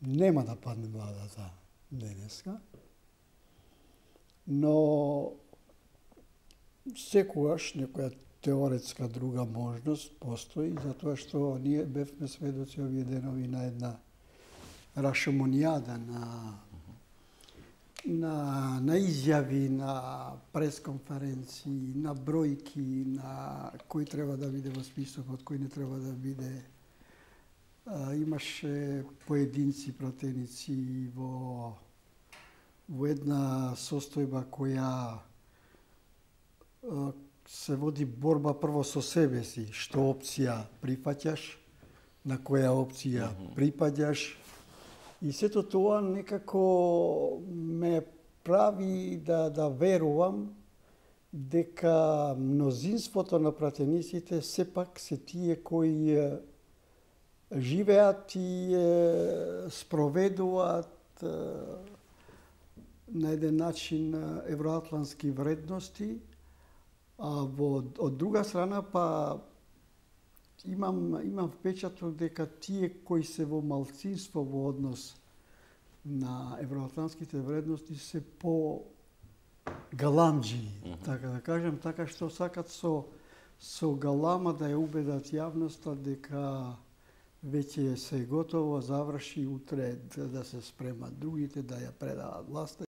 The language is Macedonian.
нема да падне владата денеска, но секогаш некоја теоретска друга можност постои, затоа што ние бевме сведоци овие денови на една рашомонијада на изјави, на пресконференции, на бројки, на кој треба да биде во списокот, кој не треба да биде. Имаше поединци пратеници во една состојба која се води борба прво со себе си, што опција прифаќаш, на која опција припаѓаш. И сето тоа некако ме прави да верувам дека мнозинството на пратениците сепак се тие кои живеат и спроведуваат на еден начин евроатлантски вредности, а од друга страна па имам впечаток дека тие кои се во малцинство во однос на евроатлантските вредности се по галамџи, така да кажем, така што сакат со галама да ја убедат јавноста дека веќе се готово, заврши, утре да се спремат другите, да ја предават власта.